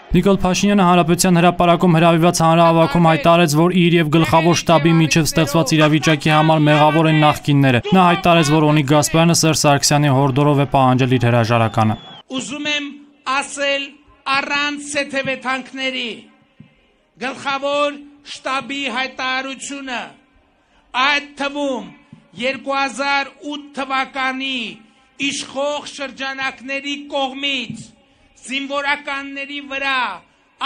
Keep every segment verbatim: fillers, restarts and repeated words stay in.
Նիկոլ Փաշինյանը Հանրապետության հրապարակում հրավիրված հանրահավաքում հայտարարեց, որ իր եւ գլխավոր շտաբի միջև ստեղծված իրավիճակի համար մեղավոր են նախկինները։ Նա հայտարարեց, որ Օնիկ Գասպարյանը Սերժ Սարգսյանի հորդորով է պահանջել իր հրաժարականը։ Ուզում եմ ասել առանց սեթևեթանքների գլխավոր շտաբի հայտարարությունը, այդ թվում երկու հազար ութ թվականի իշխող շրջանակների կողմից զինվորականների վրա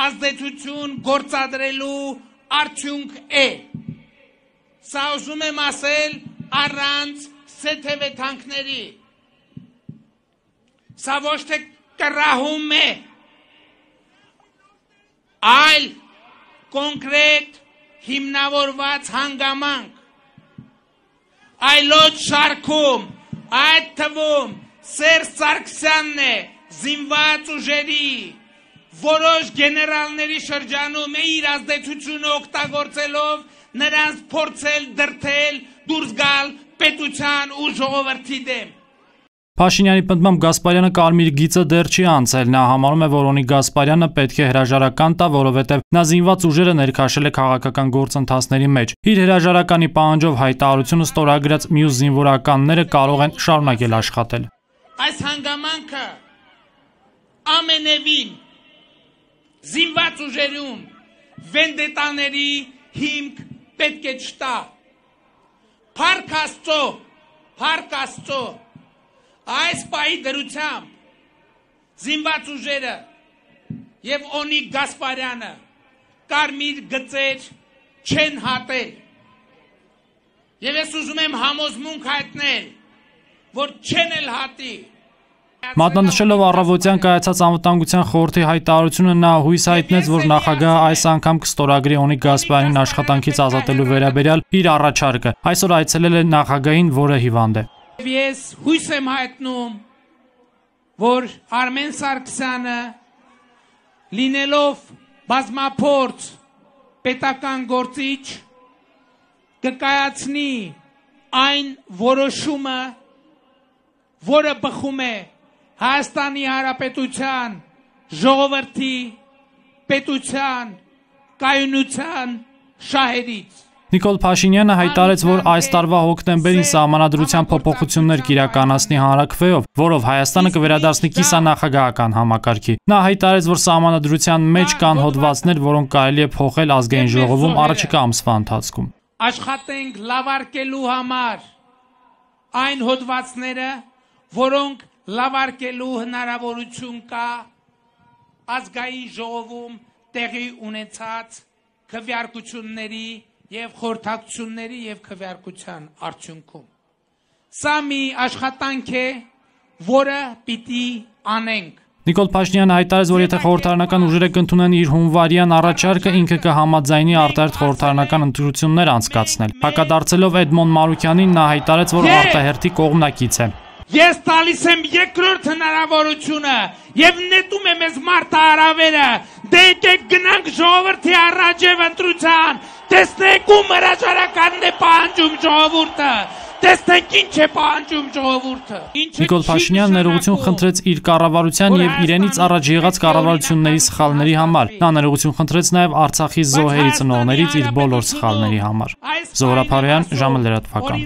ազդեցություն գործադրելու արդյունք է։ Սա ուզում եմ ասել առանց սեթևեթանքների։ Սա ոչ թե կռահում է, այլ կոնկրետ հիմնավորված հանգամանք, այլոց շարքում, այդ թվում Սերժ Սարգսյանն է զինված ուժերի որոշ գեներալների շրջանում է իր ազդեցությունը օգտագործելով նրանց փորձել դրդել դուրս գալ պետության ու ժողովրդի դեմ։ Փաշինյանի պնդմամբ Գասպարյանը կարմիր գիծը դեռ չի անցել, նա համարում է, որ Օնիկ Գասպարյանը պետք է հրաժարական տա, որովհետև նա զինված ուժերը ներքաշել է քաղաքական գործընթացների մեջ։ Իր հրաժարականի պահանջով հայտարարությունը ստորագրած մյուս զինվորականները կարող են շարունակել աշխատել։ Այս հանգամանքը ամենևին զինված ուժերում վենդետաների հիմք պետք է չտա։ Փառք Աստծո, փառք Աստծո, այս պահի դրությամբ զինված ուժերը եւ Օնիկ Գասպարյանը կարմիր գծեր չեն հատել։ Եվ ես ուզում եմ համոզմունք հայտնել, որ չեն էլ հատի։ Մատնանշելով առավոտյան կայացած անվտանգության խորհրդի հայտարարությունը, նա հույս հայտնեց, որ նախագահը այս անգամ կստորագրի Օնիկ Գասպարյանին աշխատանքից ազատելու վերաբերյալ իր առաջարկը։ Այսօր այցելել է նախագահին, որը հիվանդ է։ Ես հույս եմ հայտնում, որ Արմեն Սարգսյանը լինելով բազմափորձ պետական գործիչ կկայացնի այն որոշումը, որը բխում է Հայաստանի Հանրապետության ժողովրդի պետության կայունության շահերից։ Նիկոլ Փաշինյանը հայտարարեց, որ այս տարվա հոկտեմբերին սահմանադրության փոփոխություններ կիրականացնի հանրաքվեով, որով Հայաստանը կվերադառնի կիսանախագահական համակարգի։ Նա հայտարարեց, որ սահմանադրության մեջ կան հոդվածներ, որոնք կարելի է փոխել ազգային ժողովում առաջիկա ամսվա ընթացքում։ Աշխատենք լավարկելու համար այն հոդվածները, որոնք լավարկելու հնարավորություն կա ազգային ժողովում տեղի ունեցած քվեարկությունների եւ խորհրդակցությունների եւ քվեարկության արդյունքում։ Սա մի աշխատանք է, որը պիտի անենք։ Նիկոլ Փաշինյանը հայտարարեց, որ եթե խորհրդարանական ուժերը կընդունեն իր հունվարյան առաջարկը, ինքը կհամաձայնի արտահերթ խորհրդարանական ընտրություններ անցկացնել։ Հակադարձելով Էդմոն Մարուքյանին, նա հայտարարեց, որ արտահերթի կողմնակից է։ Ես տալիս եմ երկրորդ հնարավորությունը եւ նետում եմ ես մարտահրավերը, դե եկեք գնանք ժողովրդի առաջև ընտրության, տեսնենք ում հրաժարականն է պահանջում ժողովուրդը, տեսնենք ինչ է պահանջում ժողովուրդը։ Նիկոլ Փաշինյանն ներողություն խնդրեց իր կառավարության եւ իրենից առաջ եղած կառավարությունների սխալների համար։ Նա ներողություն խնդրեց նաեւ Արցախի զոհերի ծնողներից իր բոլոր սխալների համար։ Զոհրաբ Հարոյան, ժամը լրատվական։